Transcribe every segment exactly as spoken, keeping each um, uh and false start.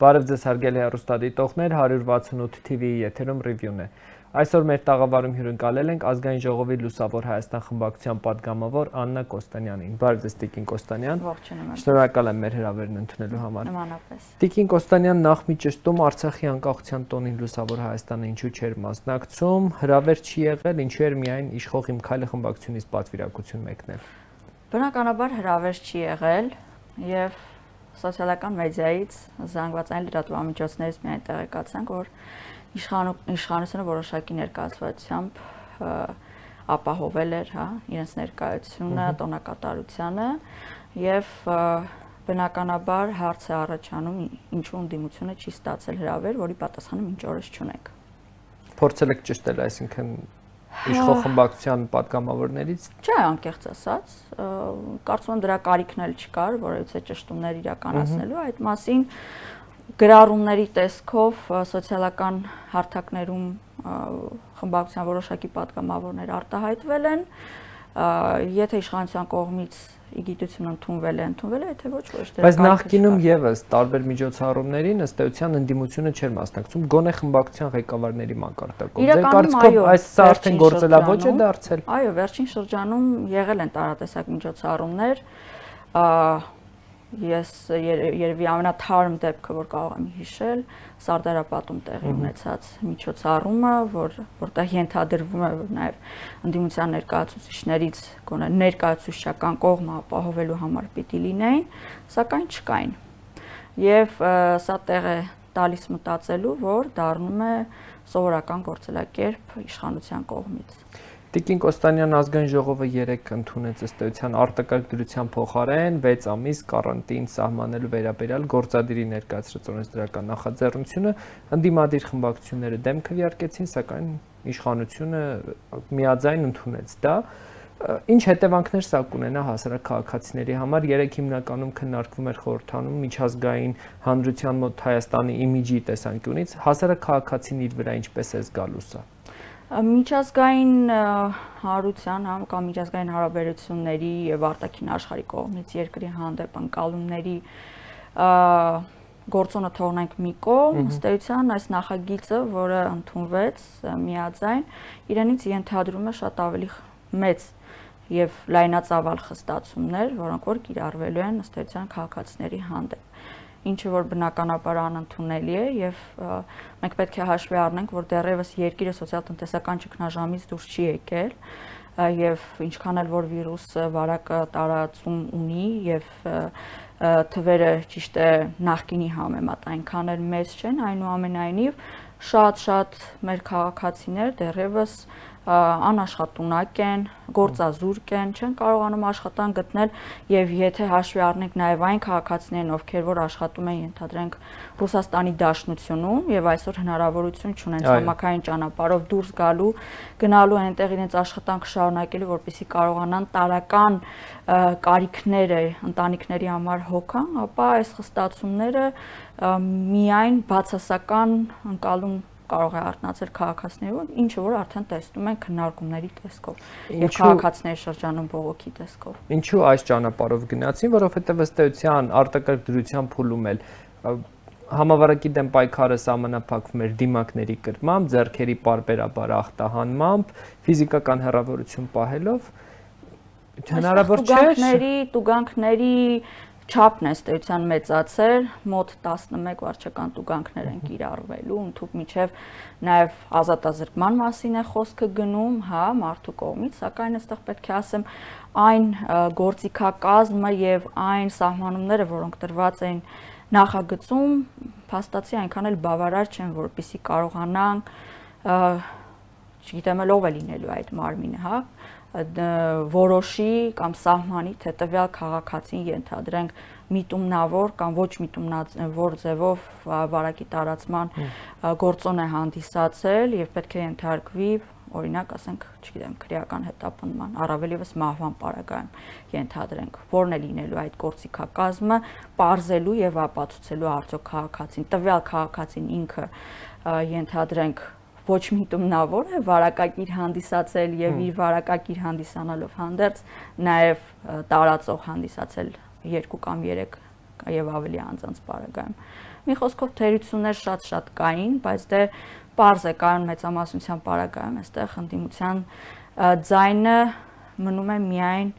Բարև ձեզ հարգելի հեռուստադիտողներ, հարյուր վաթսունութ թիվի եթերում ռիվյուն է։ Այսօր մեր տաղավարում հյուրընկալել ենք Ազգային ժողովի Լուսավոր Հայաստան խմբակցության պատգամավոր Աննա Կոստանյանին։ Բարև ձեզ Տիկին Կոստանյան։ Շնորհակալ եմ մեր հրավերն ընդունելու համար։ Նմանապես։ Տիկին Կոստանյան, նախ մի ճշտում, Արցախի անկախության տոնին Լուսավոր Հայաստանը ինչու չէր մասնակցում, հրավեր չի եղել, ինչու էր միայն իշխող Իմ քայլը խմբակցությունից պատվիրակություն մեկնել։ Բնականաբար հրավեր չի եղել եւ սոցիալական մեդիայից զանգվածային լրատվամիջոցներից միայն տեղեկացանք, որ իշխանությունը որոշակի ներկայացվածությամբ ապահովել էր, հա, իրենց ներկայությունը, տոնակատարությանը եւ բնականաբար հարց է առաջանում, ինչու ընդդիմությունը չի ստացել հրավեր, որի պատասխանը մինչ օրս չունենք։ Փորձել եք ճշտել, այսինքն իշխող խմբակցության պատգամավորներից։ Չէ, անկեղծ ասած, կարծում եմ դրա կարիքն էլ չկար, որովհետեւ ճշտումներ իրականացնելու, այդ մասին գրառումների տեսքով սոցիալական հարթակներում խմբակցության որոշակի պատգամավորներ արտահայտվել են, եթե իշխանության կողմից իգիտություն ընդունվել է, ընդունվել է, եթե ոչ, ոչ դրա։ Բայց նախկինում եւս տարբեր միջոցառումներին ըստ էության ընդդիմությունը չէր մասնակցում, գոնե խմբակցության ղեկավարների մակարդակով։ Ձեր կարծիքով այս սա արդեն գործելավոճ է դարձել։ Այո, վերջին շրջանում եղել են տարատեսակ միջոցառումներ, ես երևի ամենաթարմ դեպքը, որ կարող եմ հիշել, Սարդարապատում տեղի ունեցած միջոցառումը, որ որտեղ ենթադրվում է, որ նաև ընդդիմության ներկայացուցիչներից գոնե ներկայացուցչական կողմը ապահովելու համար պիտի լինեին, սակայն չկային։ Եվ սա տեղ է տալիս մտածելու, որ դառնում է սովորական գործելակերպ իշխանության կողմից։ Տիկին Կոստանյան, Ազգային ժողովը երեկ ընդունեց ըստ էության արտակարգ դրության փոխարեն վեց ամիս կարանտին սահմանելու վերաբերյալ գործադիրի ներկայացրած օրենսդրական նախաձեռնությունը, ընդդիմադիր խմբակցությունները դեմ քվեարկեցին, սակայն իշխանությունը միաձայն ընդունեց դա։ Ինչ հետևանքներ սա կունենա հասարակ քաղաքացիների համար։ Երեկ հիմնականում քննարկվում էր խորհրդանում միջազգային հանրության մոտ Հայաստանի իմիջի տեսանկյունից, հասարակ քաղաքացին իր վրա ինչպես է զգալու սա։ Միջազգային հանրության համ կամ միջազգային հարաբերությունների եւ արտաքին աշխարհի կողմից երկրի հանդեպ ընկալումների գործոնը թողնենք մի կողմ, ըստ էության այս նախագիծը, որը ընդունվեց միաձայն, իրենից ենթադրում է շատ ավելի մեծ եւ լայնածավալ խստացումներ, որոնք որ կիրառվելու են ըստ էության քաղաքացիների հանդեպ, ինչը որ բնականաբար անընդունելի է եւ մենք պետք է հաշվի առնենք, որ դեռևս երկիրը սոցիալ-տնտեսական ճգնաժամից դուրս չի եկել եւ ինչքան էլ որ վիրուսը վարակը տարածում ունի եւ թվերը ճիշտ է նախկինի համեմատ այնքան էլ մեծ չեն, այնուամենայնիվ շատ-շատ մեր քաղաքացիներ դեռևս անաշխատունակ են, գործազուրկ են, չեն կարողանում աշխատանք գտնել եւ եթե հաշվի առնենք նաեւ այն քաղաքացիներն, ովքեր որ աշխատում են ենթադրենք Ռուսաստանի Դաշնությունում եւ այսօր հնարավորություն չունեն ցամաքային ճանապարհով դուրս գալու, գնալու այնտեղ իրենց աշխատանքը շարունակելու, որպեսզի կարողանան տարական կարիքները ընտանիքների համար հոգան, ապա այս խստացումները միայն բացասական ընկալում կարող է արտնացել քաղաքացիներին, ինչը որ արդեն տեսնում են քննարկումների տեսքով եւ քաղաքացիների շրջանում բողոքի տեսքով։ Ինչու այս ճանապարհով գնացին, որովհետեւ ըստ էության արտակարգ դրության փուլում էլ համավարակի դեմ պայքարը սահմանափակվում էր դիմակների կրմամբ, ձեռքերի պարբերաբար ախտահանմամբ, ֆիզիկական հեռավորություն պահելով, հնարավոր չէ։ Տուգանքների չափն է ըստ էության մեծացել, մոտ տասնմեկ վարչական տուգանքներ են կիրառվելու, ընդհանուր միջև նաև ազատազրկման մասին է խոսքը գնում, հա, մարդու կողմից, սակայն այստեղ պետք է ասեմ, այն գործիքակազմը եւ այն սահմանումները, որոնք տրված են նախագծում, փաստացի այնքան էլ բավարար չեն, որպեսզի կարողանան, չգիտեմ ով է լինելու այդ մարմինը, հա, որոշի կամ սահմանի, թե տվյալ քաղաքացին ենթադրենք միտումնավոր կամ ոչ միտումնավոր ձևով վարակի տարածման գործոն է հանդիսացել եւ պետք է ենթարկվի, օրինակ, ասենք, չգիտեմ, քրեական հետապնդման, առավել եւս մահվան պարագայում ենթադրենք, որն է լինելու այդ գործիքակազմը, պարզելու եւ ապացուցելու արդյոք քաղաքացին, տվյալ քաղաքացին ինքը ենթադրենք ոչ միտումնավոր է վարակակիր հանդիսացել եւ իր վարակակիր հանդիսանալով հանդերձ նաեւ տարածող հանդիսացել երկու կամ երեք եւ ավելի անձանց պարագայում։ Մի խոսքով թերություններ շատ-շատ կային, բայց դե պարզ է կայուն մեծամասնության պարագայում այստեղ ընդդիմության ձայնը մնում է միայն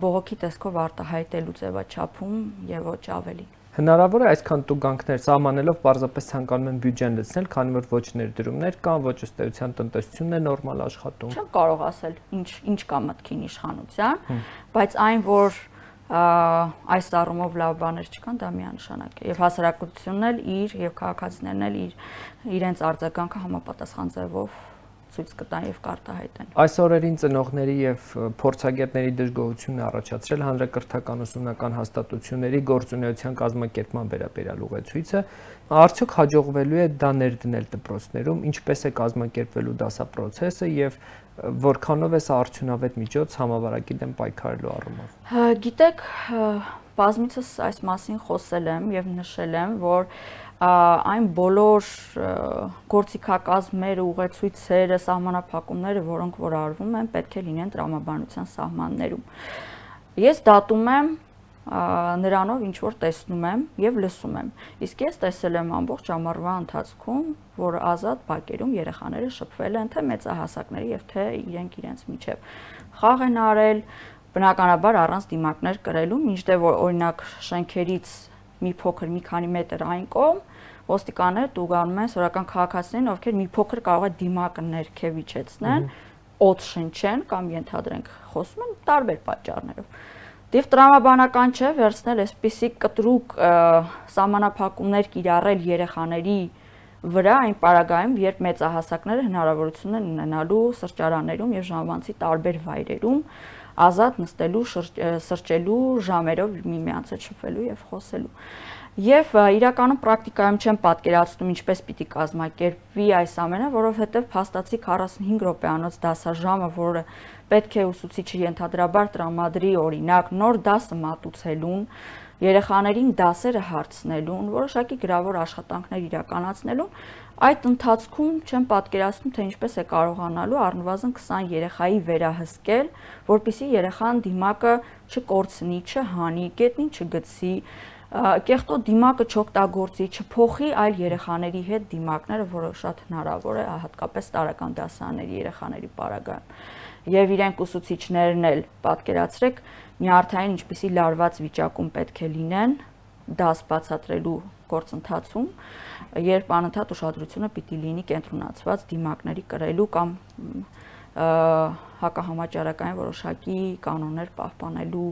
բողոքի տեսքով արտահայտելու ձևաչափում եւ ոչ ավելի։ Հնարավոր է այսքան տուգանքներ սահմանելով պարզապես ցանկանում են բյուջեն լցնել, քանի որ ոչ ներդրումներ կան, ոչ ըստեյության տնտեսությունն է նորմալ աշխատում։ Չեմ կարող ասել ինչ ինչ կա մտքին իշխանության, բայց այն որ այս առումով լավ բաներ չկան, դա միանշանակ է։ Եվ հասարակությունն էլ իր եւ քաղաքացիներն էլ իր իրենց արձագանքը համապատասխան ձևով ցույց կտան եւ կարտահայտեն։ Այս օրերին ծնողների եւ փորձագետների դժգոհությունը առաջացրել հանրակրթական ուսումնական հաստատությունների գործունեության կազմակերպման վերաբերյալ ուղեցույցը, արդյոք հաջողվելու է դա ներդնել դպրոցներում, ինչպես է կազմակերպվելու դասապրոցեսը եւ որքանով է սա արդյունավետ միջոց համավարակի դեմ պայքարելու առումով։ Գիտեք, բազմիցս այս մասին խոսել եմ եւ նշել եմ, որ այն բոլոր գործիքակազմերը, ուղեցույցերը, սահմանափակումները, որոնք որ արվում են, պետք է լինեն տրամաբանության սահմաններում։ Ես դատում եմ նրանով ինչ որ տեսնում եմ եւ լսում եմ։ Իսկ ես տեսել եմ ամբողջ ամառվա ընթացքում, որ ազատ բակերում երեխաները շփվել են թե մեծահասակների եւ թե իրենք իրենց միջև խաղ են արել, բնականաբար առանց դիմակներ կրելու, մինչդեռ որ օրինակ շենքերից մի փոքր մի քանի մետր այն կողմ ոստիկանները տուգանում են սորական քաղաքացիներին, ովքեր մի փոքր կարող է դիմակը ներքև իջեցնեն, օդ շնչեն կամ ենթադրենք խոսում են տարբեր պատճառներով։ Եվ տրամաբանական չէ վերցնել այսպիսի կտրուկ սահմանափակումներ կիրառել երեխաների վրա այն պարագայում, երբ մեծահասակները հնարավորություն են ունենալու սրճարաններում եւ ժամանցի տարբեր վայրերում ազատ նստելու, սրճելու ժամերով միմյանց հետ շփվելու եւ խոսելու։ Եվ իրականում պրակտիկայում չեմ պատկերացնում ինչպես պիտի կազմակերպվի այս ամենը, որովհետև փաստացի քառասունհինգ րոպեանոց դասաժամը, որը պետք է ուսուցիչը ենթադրաբար տրամադրի օրինակ նոր դասը մատուցելուն, երեխաներին դասերը հարցնելուն, որոշակի գրավոր աշխատանքներ իրականացնելուն, այդ ընթացքում չեմ պատկերացնում, թե ինչպես է կարողանալու առնվազն քսան երեխայի վերահսկել, որպեսզի երեխան դիմակը չկորցնի, չհանի, գետնին չգցի, կեղտոտ դիմակը չօգտագործի, չփոխի այլ երեխաների հետ դիմակները, որը շատ հնարավոր է հատկապես տարրական դասարանների երեխաների պարագայում։ Եվ իրենք ուսուցիչներն էլ պատկերացրեք նյարդային ինչպիսի լարված վիճակում պետք է լինեն դաս բացատրելու գործընթացում, երբ անընդհատ ուշադրությունը պիտի լինի կենտրոնացված դիմակների կրելու կամ հակահամաճարակային որոշակի կանոններ պահպանելու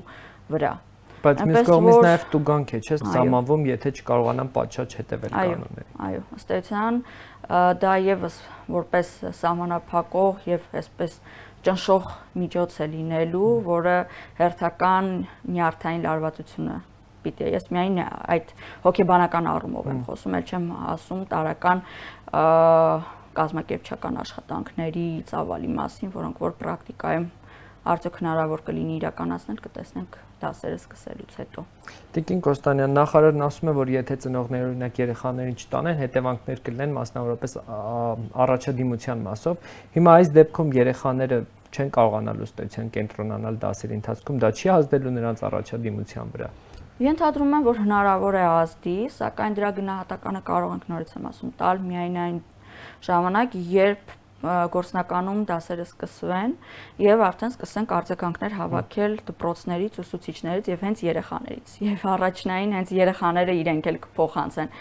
վրա։ Բայց մյուս կողմից նաև տուգանք է, չէ՞, սահմանվում, եթե չկարողանան պատշաճ հետևել կանոններին։ Այո, ըստ էության դա եւս որպես սահմանափակող եւ այսպես ճնշող միջոց է լինելու, որը հերթական նյարդային լարվածությունը պիտի ես միայն այդ հոգեբանական առումով եմ խոսում, ել չեմ ասում տարական կազմակերպչական աշխատանքների ծավալի մասին, որոնք որ պրակտիկայում արդյոք հնարավոր կլինի իրականացնել, կտեսնենք դասերը սկսելուց հետո։ Տիկին Կոստանյան, նախարարն ասում է, որ եթե ծնողները օրինակ երեխաներին չտանեն, հետևանքներ կլինեն մասնավորապես առաջադիմության մասով։ Հիմա այս դեպքում երեխաները չեն կարողանալու ըստեյության կենտրոնանալ դասերի ընթացքում, դա չի ազդելու նրանց առաջադիմության վրա։ Ենթադրում եմ, որ հնարավոր է ազդի, սակայն դրա գնահատականը կարող ենք նորից եմ ասում տալ միայն այն ժամանակ, երբ գործնականում դասերը սկսվեն եւ արդեն սկսենք արձագանքներ հավաքել դպրոցներից, ուսուցիչներից եւ հենց երեխաներից։ Եվ առաջնային հենց երեխաները իրենք էլ կփոխանցեն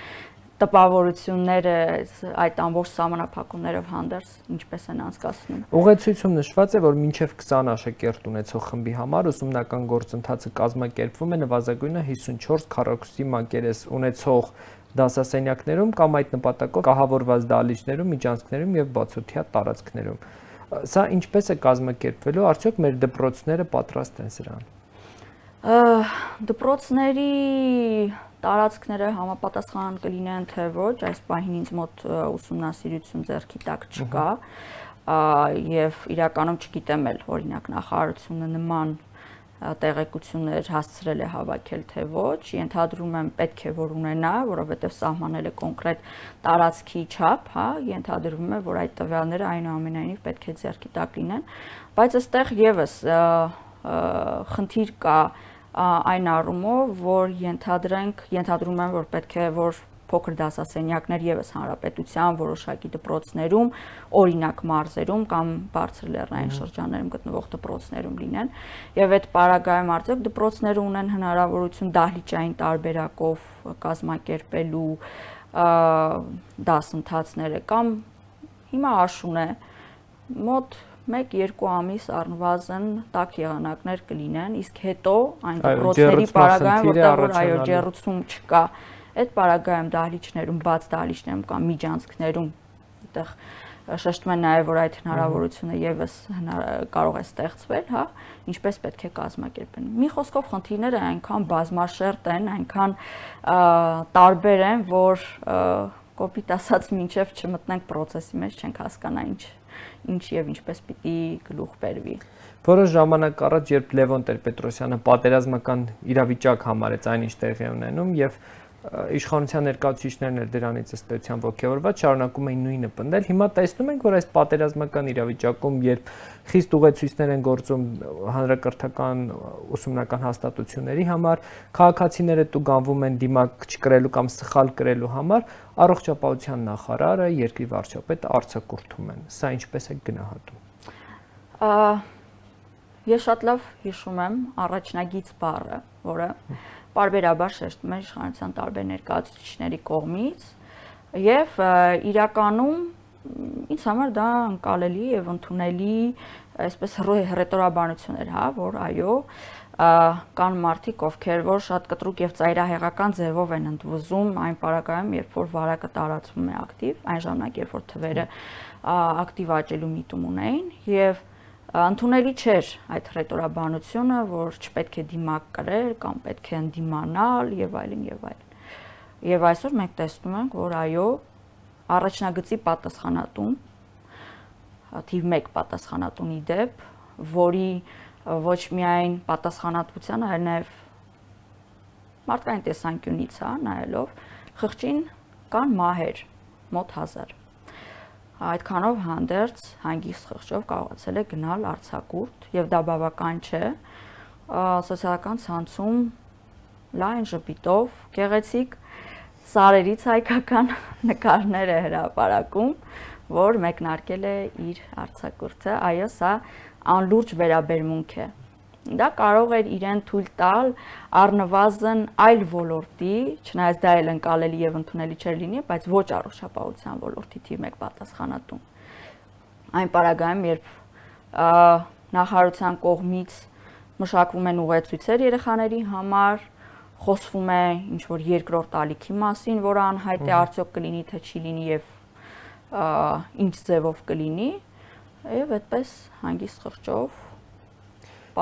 տպավորությունները այդ ամբողջ սահմանափակումներով հանդերձ ինչպես են անցկացնում։ Ուղեցույցում նշված է, որ մինչև քսան աշակերտ ունեցող խմբի համար ուսումնական գործընթացը կազմակերպվում է նվազագույնը հիսունչորս քառակուսի մակերես ունեցող դասասենյակներում կամ այդ նպատակով կահավորված դահլիճներում, միջանցքներում եւ բացօթյա տարածքներում։ Սա ինչպես է կազմակերպվելու, արդյոք մեր դպրոցները պատրաստ են սրան։ Դպրոցների տարածքները համապատասխան կլինեն թե ոչ, այս պահին ինձ մոտ ուսումնասիրություն ձեռքի տակ չկա եւ իրականում չգիտեմ էլ օրինակ նախարարությունը նման տեղեկություններ հասցրել է հավաքել թե ոչ, ենթադրում եմ պետք է որ ունենա, որովհետև սահմանել է կոնկրետ տարածքի չափ, հա, ենթադրվում է, որ այդ տվյալները այնուամենայնիվ պետք է ձեռքի տակ լինեն, բայց այստեղ եւս խնդիր կա այն առումով, որ ենթադրենք, ենթադրում եմ, որ պետք է որ փոքր դասասենյակներ եւս հանրապետության որոշակի դպրոցներում, օրինակ մարզերում կամ բարձր լեռնային շրջաններում գտնվող դպրոցներում լինեն, եւ այդ պարագայում արդյոք դպրոցները ունեն հնարավորություն դահլիճային տարբերակով կազմակերպելու դասընթացները կամ հիմա աշուն է մոտ մեկ-երկու ամիս առնվազն տաք եղանակներ կլինեն, իսկ հետո այն դպրոցների պարագայում, որտեղ այո ջեռուցում չկա, այդ պարագայում դահլիճներում, բաց դահլիճներում կամ միջանցքներում, այդտեղ շեշտում են նաև, որ այդ հնարավորությունը եւս կարող է ստեղծվել, հա, ինչպես պետք է կազմակերպեն։ Մի խոսքով խնդիրները այնքան բազմաշերտ են, այնքան տարբեր են, որ կոպիտ ասած մինչև չմտնենք process-ի մեջ, չենք հասկանա ինչ ինչ եւ ինչպես պիտի գլուխ բերվի։ Որոշ ժամանակ առաջ, երբ Լևոն Տեր-Պետրոսյանը պատերազմական իրավիճակ համարեց այն ինչ տեղի ունենում եւ իշխանության ներկայացուցիչներն էլ դրանից ըստ էության ոգևորված շարունակում էին նույնը պնդել։ Հիմա տեսնում ենք, որ այս պատերազմական իրավիճակում, երբ խիստ ուղեցույցներ են գործում հանրակրթական ուսումնական հաստատությունների համար, քաղաքացիները տուգանվում են դիմակ չկրելու կամ սխալ կրելու համար, առողջապահության նախարարը, երկրի վարչապետը արձակուրդում են։ Սա ինչպես է գնահատում։ Ես շատ լավ հիշում եմ առաջնագիծ բառը, որը պարբերաբար շեշտում է իշխանության տարբեր ներկայացուցիչների կողմից եւ իրականում ինձ համար դա ընկալելի եւ ընդունելի այսպես հռետորաբանություն էր, հա, որ այո կան մարդիկ, ովքեր որ շատ կտրուկ եւ ծայրահեղական ձևով են ընդվզում այն պարագայում, երբ որ վարակը տարածվում է ակտիվ, այն ժամանակ, երբ որ թվերը ակտիվ աճելու միտում ունեին եւ ընդունելի չէր այդ հռետորաբանությունը, որ չպետք է դիմակ կրել կամ պետք է ընդդիմանալ եւ այլն եւ այլն։ Եվ այսօր մենք տեսնում ենք, որ այո, առաջնագծի պատասխանատուն, թիվ մեկ պատասխանատունի դեպ, որի ոչ միայն պատասխանատվության, այլ նաեւ մարդկային տեսանկյունից, հա, նայելով, խղճին կան մահեր, մոտ հազար։ Այդքանով հանդերձ հանգիստ խղճով կարողացել է գնալ արձակուրդ եւ դա բավական չէ սոցիալական ցանցում լայն ժպիտով գեղեցիկ սարերից հայկական նկարներ է հրապարակում, որ մեկնարկել է իր արձակուրդը, այո, սա անլուրջ վերաբերմունք է։ Դա կարող էր իրեն թույլ տալ առնվազն այլ ոլորտի, չնայած դա էլ ընկալելի եւ ընդունելի չէր լինի, բայց ոչ առողջապահության ոլորտի թիվ մեկ պատասխանատուն։ Այն պարագայում, երբ նախարարության կողմից մշակվում են ուղեցույցեր երեխաների համար, խոսվում է ինչ որ երկրորդ ալիքի մասին, որը անհայտ է արդյոք կլինի թե չի լինի եւ ինչ ձևով կլինի, եւ այդպես հանգիստ խղճով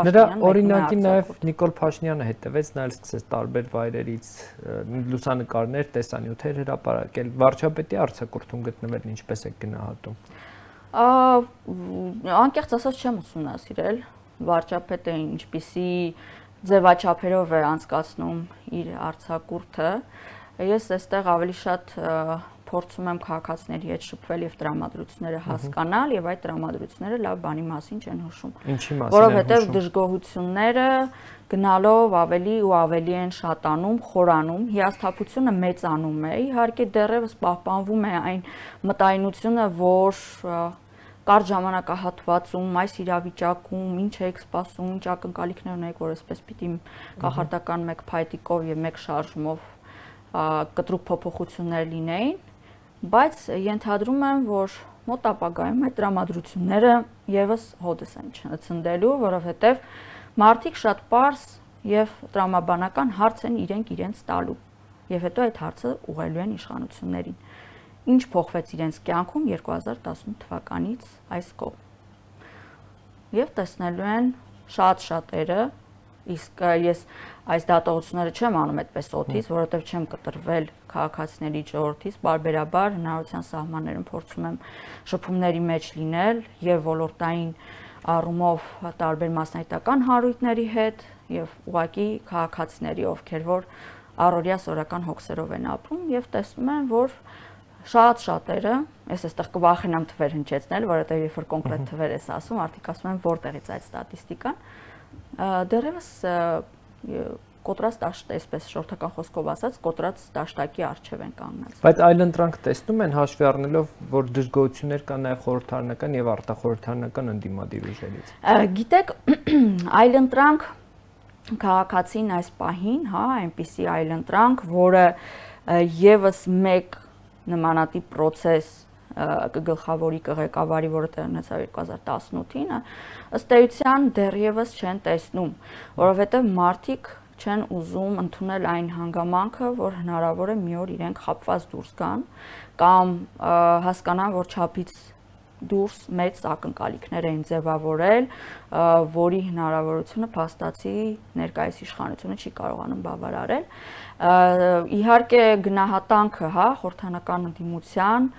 Նրա օրինակի նաև Նիկոլ Փաշինյանը հետևեց, նա էլ սկսեց տարբեր վայրերից լուսանկարներ, տեսանյութեր հրապարակել, վարչապետի արձակուրդում գտնվել ինչպես է գնահատում։ Անկեղծ ասած չեմ ուսումնասիրել վարչապետը ինչպիսի ձևաչափերով է անցկացնում իր արձակուրդը։ Ես այստեղ ավելի շատ փորձում եմ քաղաքացիների հետ շփվել եւ տրամադրությունները հասկանալ եւ այդ տրամադրությունները լավ բանի մասին չեն հուշում։ Ինչի մասին են հուշում։ Որովհետեւ դժգոհությունները գնալով ավելի ու ավելի են շատանում, խորանում, հիասթափությունը մեծանում է։ Իհարկե դեռևս պահպանվում է այն մտայնությունը, որ կարճ ժամանակահատվածում այս իրավիճակում ինչ եք սպասում, ինչ ակնկալիքներ ունեք, որ այսպես պիտի կախարդական մեկ փայտիկով եւ մեկ շարժումով կտրուկ փոփոխություններ լինեին, բայց ենթադրում եմ, որ մոտ ապագայում այդ տրամադրությունները եւս հոդս են ցնդելու, որովհետեւ մարդիկ շատ պարզ եւ տրամաբանական հարց են իրենք իրենց տալու եւ հետո այդ հարցը ուղղելու են իշխանություններին։ Ինչ փոխվեց իրենց կյանքում երկու հազար տասնութ թվականից այս կողմ։ Եվ տեսնելու են շատ շատերը, իսկ ես այս դատողությունները չեմ անում այդպես օդից, որովհետև չեմ կտրվել քաղաքացիների ժողովրդից, բարբերաբար հնարավորության սահմաններում փորձում եմ շփումների մեջ լինել եւ ոլորտային առումով տարբեր մասնագիտական հարույթների հետ եւ ուղղակի քաղաքացիների, ովքեր որ առօրյա սորական հոգսերով են ապրում եւ տեսնում են, որ շատ շատերը, ես այստեղ կվախենամ թվեր հնչեցնել, որովհետեւ երբ որ կոնկրետ թվեր ես ասում, արդյոք ասում են որտեղից այդ ստատիստիկան, դեռևս կոտրած դաշտ, այսպես շորթական խոսքով ասած, կոտրած դաշտակի առջև են կանգնած։ Բայց այլընտրանք տեսնում են հաշվի առնելով, որ դժգոհություններ կան նաև խորհրդարանական եւ արտախորհրդարանական ընդդիմադիր ուժերից։ Գիտեք, այլընտրանք քաղաքացին այս պահին, հա, այնպիսի այլընտրանք, որը եւս մեկ նմանատիպ process կգլխավորի կղեկավարի, որը տեղի ունեցավ երկու հազար տասնութին, ըստ էության դեռևս չեն տեսնում, որովհետեւ մարդիկ չեն ուզում ընդունել այն հանգամանքը, որ հնարավոր է մի օր իրենք խապված դուրս գան կամ հասկանան, որ չափից դուրս մեծ ակնկալիքներ էին ձևավորել, որի հնարավորությունը փաստացի ներկայիս իշխանությունը չի կարողանում բավարարել։ Իհարկե գնահատանքը, հա, խորհրդանական ընդդիմության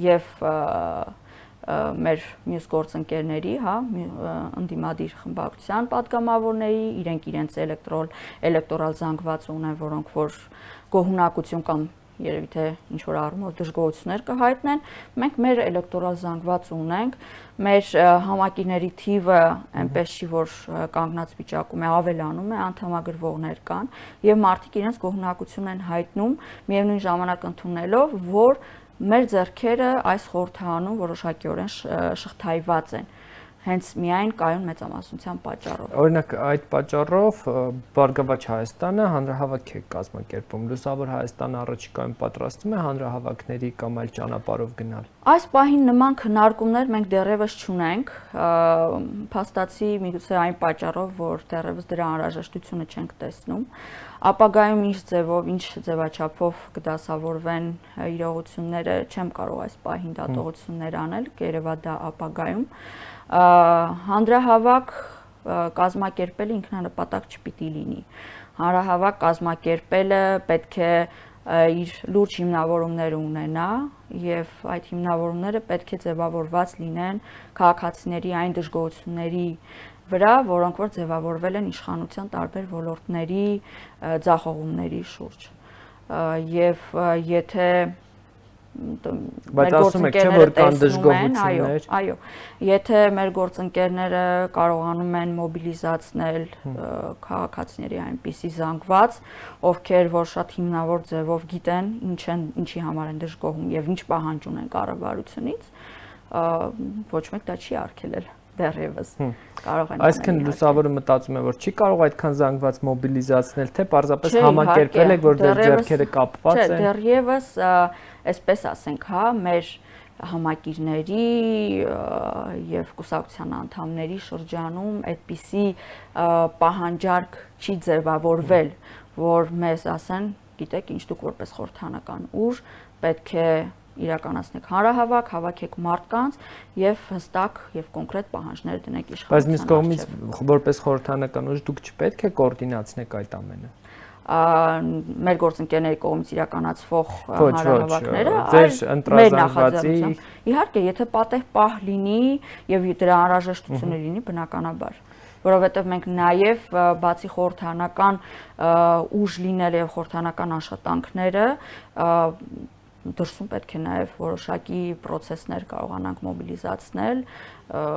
եւ մեր մյուս գործընկերների, հա, ընդդիմադիր խմբակցության պատգամավորների, իրենք իրենց էլեկտրոլ էլեկտորալ զանգված ունեն, որոնք որ գոհունակություն կամ երևի թե ինչ որ առումով դժգոհություններ կհայտնեն, մենք մեր էլեկտորալ զանգված ունենք, մեր համակիրների թիվը այնպես չի, որ կանգնած վիճակում է, ավելանում է, անդամագրվողներ կան եւ մարդիկ իրենց գոհունակություն են հայտնում, միևնույն ժամանակ ընդունելով, որ մեր ձեռքերը այս խորհրդարանում որոշակիորեն շղթայված են, հենց միայն կայուն մեծամասնության պատճառով։ Օրինակ այդ պատճառով Բարգավաճ Հայաստանը հանրահավաք է կազմակերպում, Լուսավոր Հայաստանը առաջիկայում պատրաստվում է հանրահավաքների կամ այլ ճանապարհով գնալ։ Այս պահին նման քննարկումներ մենք դեռևս չունենք, փաստացի միգուցե այն պատճառով, որ դեռևս դրա անհրաժեշտությունը չենք տեսնում, ապագայում ինչ ձևով, ինչ ձևաչափով կդասավորվեն իրողությունները, չեմ կարող այս պահին դատողություններ անել, կերևա դա ապագայում։ Հանրահավաք կազմակերպելը ինքնանպատակ չպիտի լինի։ Հանրահավաք կազմակերպելը պետք է իր լուրջ հիմնավորումներ ունենա եւ այդ հիմնավորումները պետք է ձևավորված լինեն քաղաքացիների այն դժգոհությունների վրա, որոնք որ ձևավորվել են իշխանության տարբեր ոլորտների ձախողումների շուրջ։ Եվ եթե Բայց ասում եք, չէ՞ որ կան դժգոհություններ։ Այո, եթե մեր գործընկերները կարողանում են մոբիլիզացնել քաղաքացիների այնպիսի զանգված, ովքեր որ շատ հիմնավոր ձևով գիտեն ինչ են, ինչի համար են դժգոհում եւ ինչ պահանջ ունեն կառավարությունից, ոչ մեկ դա չի արգելել դեռևս կարող են։ Այսինքն Լուսավորը մտածում է, որ չի կարող այդքան զանգված մոբիլիզացնել, թե պարզապես համակերպել եք, որ ձեր ձեռքերը կապված են։ Չէ, դեռևս այսպես ասենք, հա, մեր համակիրների եւ կուսակցության անդամների շրջանում այդպիսի պահանջարկ չի ձևավորվել, որ մեզ ասեն, գիտեք, ինչ դուք որպես խորհրդանական ուժ պետք է իրականացնեք հանրահավաք, հավաքեք մարդկանց եւ հստակ եւ կոնկրետ պահանջներ դնեք իշխանության։ Բայց մյուս կողմից որպես խորհրդանական ուժ դուք չպետք է կոորդինացնեք այդ ամենը։ Մեր գործընկերների կողմից իրականացվող հանրահավաքները, ձեր ընտրազանգվածի իհարկե, եթե պատեհ պահ լինի եւ դրա անհրաժեշտությունը լինի, բնականաբար, որովհետեւ մենք նաեւ բացի խորհրդանական ուժ լինել եւ խորհրդանական աշխատանքները դրսում պետք է նաև որոշակի process-ներ կարողանանք մոբիլիզացնել,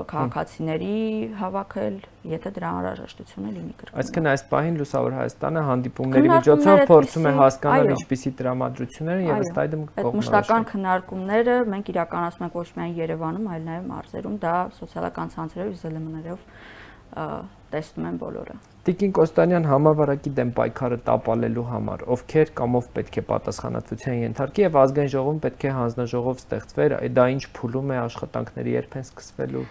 քաղաքացիների հավաքել, եթե դրա անհրաժեշտությունը լինի կրկին։ Այսինքն այս պահին Լուսավոր Հայաստանը հանդիպումների միջոցով փորձում է հասկանալ ինչպիսի տրամադրություններ են եւ ըստ այդմ այդ մշտական քննարկումները մենք իրականացնում ենք ոչ միայն Երևանում, այլ նաև մարզերում, դա սոցիալական ցանցերով, զել էմ էներով տեսնում են բոլորը։ Տիկին Կոստանյան, համավարակի դեմ պայքարը տապալելու համար ովքեր կամ ով պետք է պատասխանատվության ենթարկի եւ ազգային ժողովում պետք է հանձնաժողով ստեղծվեր, դա ինչ փուլում է, աշխատանքների երբ են սկսվելու։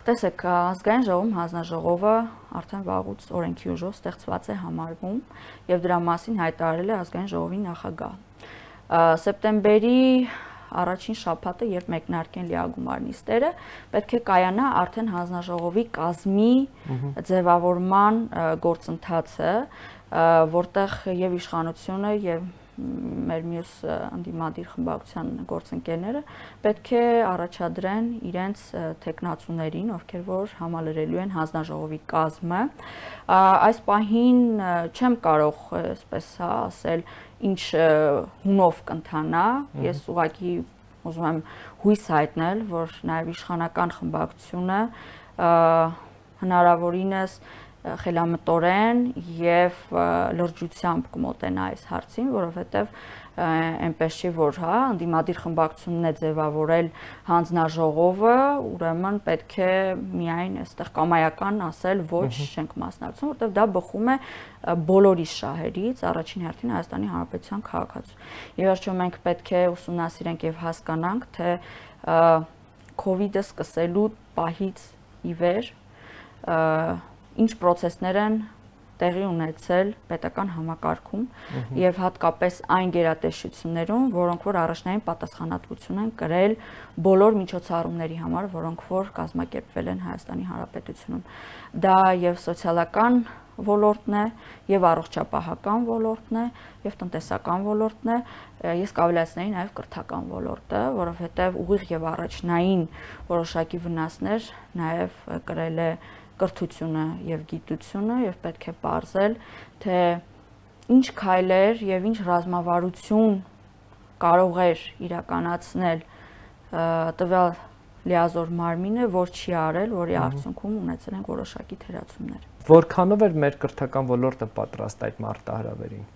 Տեսեք, ազգային ժողովում հանձնաժողովը արդեն վաղուց օրենքի ուժով ստեղծված է համարվում եւ դրա մասին հայտարարել է ազգային ժողովի նախագահ։ Սեպտեմբերի առաջին շաբաթը, երբ մեկնարկեն լիագումար նիստերը, պետք է կայանա արդեն հանձնաժողովի կազմի ձևավորման գործընթացը, որտեղ եւ իշխանությունը եւ մեր մյուս ընդդիմադիր խմբակցության գործընկերները պետք է առաջադրեն իրենց տեխնացուներին, ովքեր որ համալրելու են հանձնաժողովի կազմը։ Այս պահին չեմ կարող այսպես ասել ինչ հունով կընթանա, ես ուղղակի ուզում եմ հույս հայտնել, որ նաև իշխանական խմբակցությունը հնարավորինս խելամտորեն եւ լրջությամբ կմոտենա այս հարցին, որովհետեւ այնպես չի որ հա անդիմադիր խմբակցությունն է ձևավորել հանձնաժողովը, ուրեմն պետք է միայն այստեղ կամայական ասել ոչ չենք մասնակցում, որտեղ դա բխում է բոլորի շահերից, առաջին հերթին Հայաստանի Հանրապետության քաղաքացու։ Եվ վերջում մենք պետք է ուսումնասիրենք եւ հասկանանք, թե COVID-ը սկսելու պահից ի վեր ինչ process-ներ են տեղի ունեցել պետական համակարգում եւ հատկապես այն գերատեսչություններում, որոնք որ առաջնային պատասխանատվություն են կրել բոլոր միջոցառումների համար, որոնք որ կազմակերպվել են Հայաստանի Հանրապետությունում։ Դա եւ սոցիալական ոլորտն է, եւ առողջապահական ոլորտն է, եւ տնտեսական ոլորտն է, ես կավելացնեի նաեւ կրթական ոլորտը, որովհետեւ ուղիղ եւ առաջնային որոշակի վնասներ նաեւ կրել է կրթությունը եւ գիտությունը եւ պետք է ողջել, թե ինչ քայլեր եւ ինչ ռազմավարություն կարող էր իրականացնել տվյալ լիազոր մարմինը, որ չի արել, որի արդյունքում ունեցել են որոշակի թերացումներ։ Որքանով էր մեր կրթական ոլորտը պատրաստ այդ մարտահրավերին։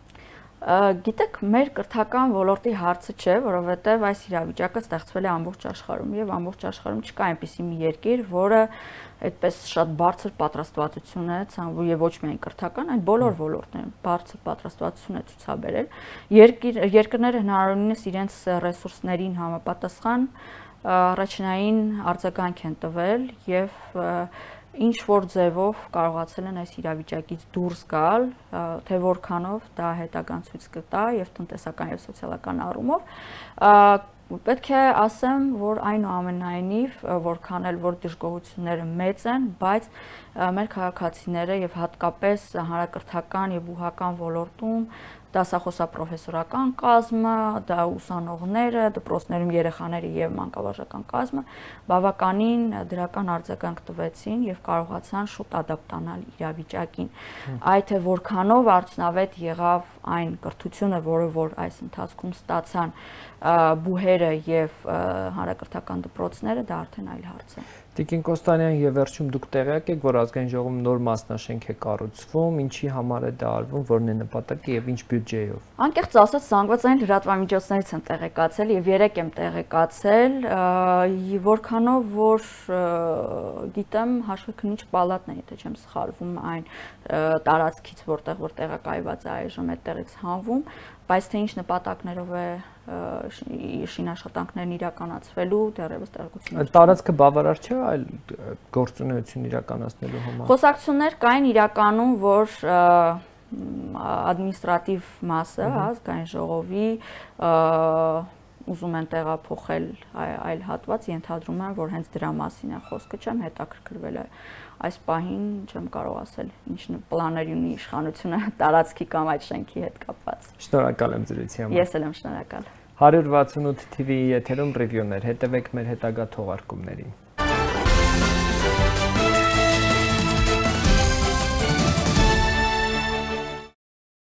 Գիտեք, մեր կրթական ոլորտի հարցը չէ, որովհետև այս իրավիճակը ստեղծվել է ամբողջ աշխարհում եւ ամբողջ աշխարհում չկա այնպիսի մի երկիր, որը այդպես շատ բարձր պատրաստվածություն է ցանվում եւ ոչ միայն կրթական, այլ բոլոր ոլորտներում բարձր պատրաստվածություն է ցուցաբերել։ Երկրները հնարավորինս իրենց ռեսուրսներին համապատասխան առաջնային արձագանք են տվել եւ ինչ որ ձևով կարողացել են այս իրավիճակից դուրս գալ, թե որքանով դա հետագան ցույց կտա եւ տնտեսական եւ սոցիալական առումով, պետք է ասեմ, որ այնուամենայնիվ, որքան էլ որ դժգոհությունները մեծ են, բայց մեր քաղաքացիները եւ հատկապես հանրակրթական եւ բուհական ոլորտում դասախոսապրոֆեսորական կազմը, դա ուսանողները, դպրոցներում երեխաների եւ մանկավարժական կազմը բավականին դրական արձագանք տվեցին եւ կարողացան շուտ ադապտանալ իրավիճակին։ Այդ թե որքանով արդյունավետ եղավ այն կրթությունը, որը որ այս ընթացքում ստացան բուհերը եւ հանրակրթական դպրոցները, դա արդեն այլ հարց է։ Տիկին Կոստանյան, եւ վերջում դուք տեղյակ եք, որ ազգային ժողովում նոր մասնաշենք է կառուցվում, ինչի համար է դա արվում, որն է նպատակը եւ ինչ բյուջեով։ Անկեղծ ասած, զանգվածային լրատվամիջոցներից եմ տեղեկացել եւ երեք եմ տեղեկացել, որքանով որ գիտեմ, հաշվի քննիչ պալատն է, եթե չեմ սխալվում, այն տարածքից, որտեղ որ տեղակայված է այժմ այդտեղից հանվում, բայց թե ինչ նպատակներով է շինաշխատանքներն իրականացվելու դեռևս տեղեկություն։ Տարածքը բավարար չէ այլ գործունեություն իրականացնելու համար։ Խոսակցություններ կային իրականում, որ ադմինիստրատիվ մասը, ազգային ժողովի ուզում են տեղափոխել այլ հատված, ենթադրում եմ, որ հենց դրա մասին է խոսքը, չեմ հետաքրքրվել այս պահին, չեմ կարող ասել ինչ պլաներ ունի իշխանությունը տարածքի կամ այդ շենքի հետ կապված։ Շնորհակալ եմ զրույցի համար։ Ես էլ եմ շնորհակալ։ հարյուր վաթսունութ թիվի եթերում ռիվյուներ, հետևեք մեր հետագա թողարկումներին։